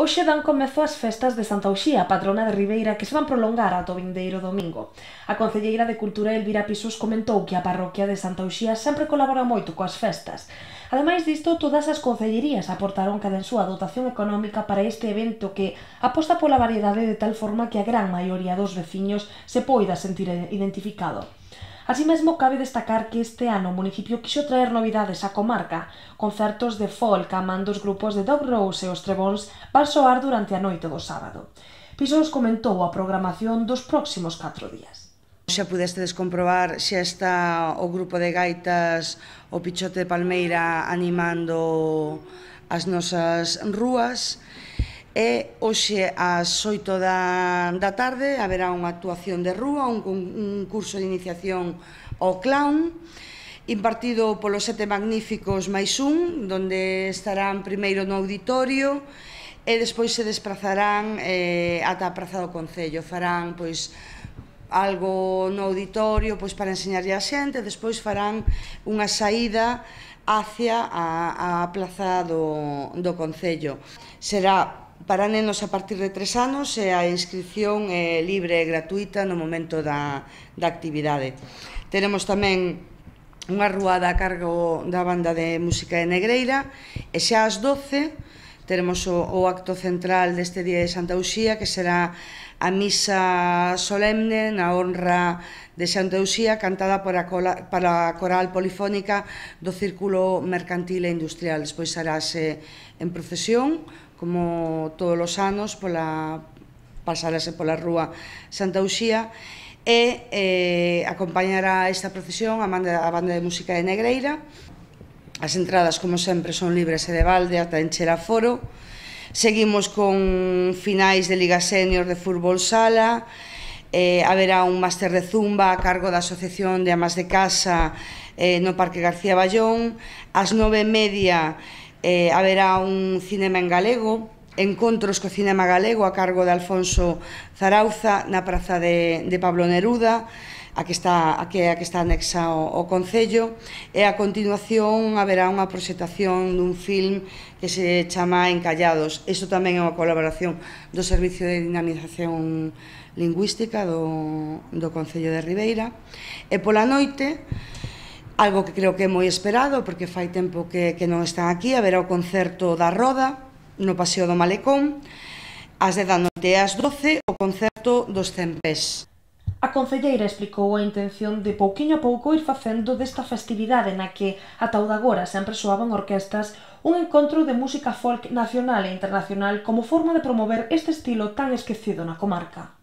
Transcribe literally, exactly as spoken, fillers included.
Hoxe dan comezo as festas de Santa Uxía, patrona de Ribeira, que se van prolongar ata o vindeiro domingo. A concelleira de Cultura Elvira Pisús comentou que a parroquia de Santa Uxía sempre colabora moito coas festas. Ademais disto, todas as concellerías aportaron cada en súa dotación económica para este evento que aposta pola variedade de tal forma que a gran maioría dos veciños se poida sentir identificado. Así mesmo, cabe destacar que este ano o municipio quixo traer novidades á comarca. Concertos de folk a man dos grupos de Dog Rose e os Trebóns van soar durante a noite do sábado. Pisós comentou a programación dos próximos catro días. Xa pudestes comprobar, xa está o grupo de gaitas o Pichote de Palmeira animando as nosas rúas. E hoxe ás oito da, da tarde haberá unha actuación de rúa, un, un curso de iniciación ao clown impartido polos Sete Magníficos máis un, donde estarán primeiro no auditorio e despois se desplazarán eh, ata a Praza do Concello. Farán pois algo no auditorio pois para enseñarlle a xente, despois farán unha saída hacia a, a Praza do, do Concello. Será para nenos a partir de tres anos e a inscripción é libre e gratuita no momento da, da actividade. Teremos tamén unha ruada a cargo da banda de música de Negreira e xa ás doce teremos o, o acto central deste día de Santa Uxía, que será a misa solemne na honra de Santa Uxía, cantada por a, cola, para a coral polifónica do Círculo Mercantil e Industrial. Despois harase en procesión, como todos os anos, pola, pasarase pola rúa Santa Uxía e eh, acompañará esta procesión a banda, a banda de música de Negreira. As entradas, como sempre, son libres e de balde ata encher aforo. Seguimos con finais de Liga Senior de fútbol sala, eh, haberá un máster de zumba a cargo da Asociación de Amas de Casa eh, no Parque García Ballón. Ás nove e media eh, haberá un cinema en galego, encontros co cinema galego a cargo de Alfonso Zarauza na praza de, de Pablo Neruda, a que está, a que, a que está anexa ao, ao Concello, e a continuación haberá unha proxectación dun film que se chama Encallados. Isto tamén é unha colaboración do Servicio de Dinamización Lingüística do, do Concello de Ribeira. E pola noite, algo que creo que é moi esperado, porque fai tempo que, que non están aquí, haberá o concerto da Roda no Paseo do Malecón, ás dez da noite e ás doce o concerto dos Cen Pés. A concelleira explicou a intención de pouquiño a pouco ir facendo desta festividade na que, ata o de agora, sempre soaban orquestas, un encontro de música folk nacional e internacional como forma de promover este estilo tan esquecido na comarca.